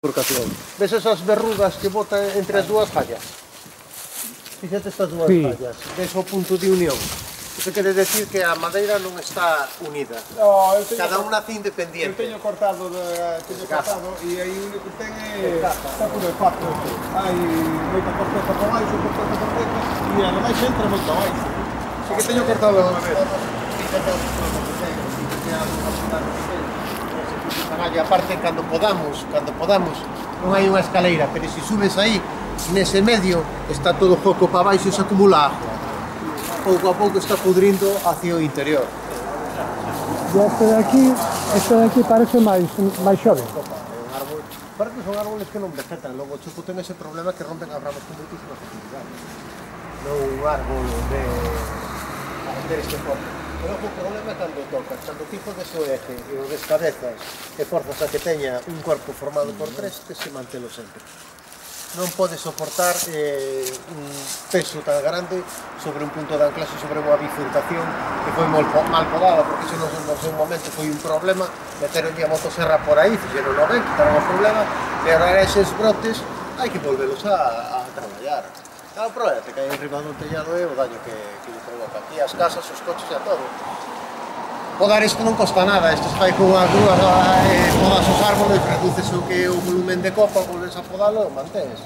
bifurcación. Ves esas verrugas que bota entre as dúas fallas? Fíxate estas dúas fallas, ves o punto de unión. Iso quere decir que a madeira non está unida. No, cada unha nace independiente. Eu teño cortado e aí o único que ten é está por el pato. Hai moita corteza por baixo, e ademais entra moito baixo. Así que teño cortado unha vez. Fíxate o que ten, e aparte cando podamos, non hai unha escaleira, pero se subes aí, nese medio, está todo foco para baixo e se acumula agua. Pouco a pouco está pudrindo hacia o interior. E este de aquí parece máis xove. Para que son árboles que non vegetan, logo o chupo ten ese problema que rompen as ramas con moitísima facilidade. Non un árbol de este forma. Pero o problema é cando tocas, cando ti podes o eje e o descabezas e forzas a que teña un corpo formado por tres, que se mantelo sempre. Non pode soportar un peso tan grande sobre un punto de anclaxe, sobre unha bifurcación que foi mal podada, porque iso no seu momento foi un problema, meteronlle a motoserra por aí, fixeron o ben, quitaron o problema, e agora eses brotes hai que volvelos a traballar. O problema é que hai enriba do tellado e o daño que lle provoca aquí as casas, os coches e a todo. Podar isto non costa nada, isto se fai con unha grúa, podas os árboles, reduces o que é o volumen de copa, volves a podalo e mantens.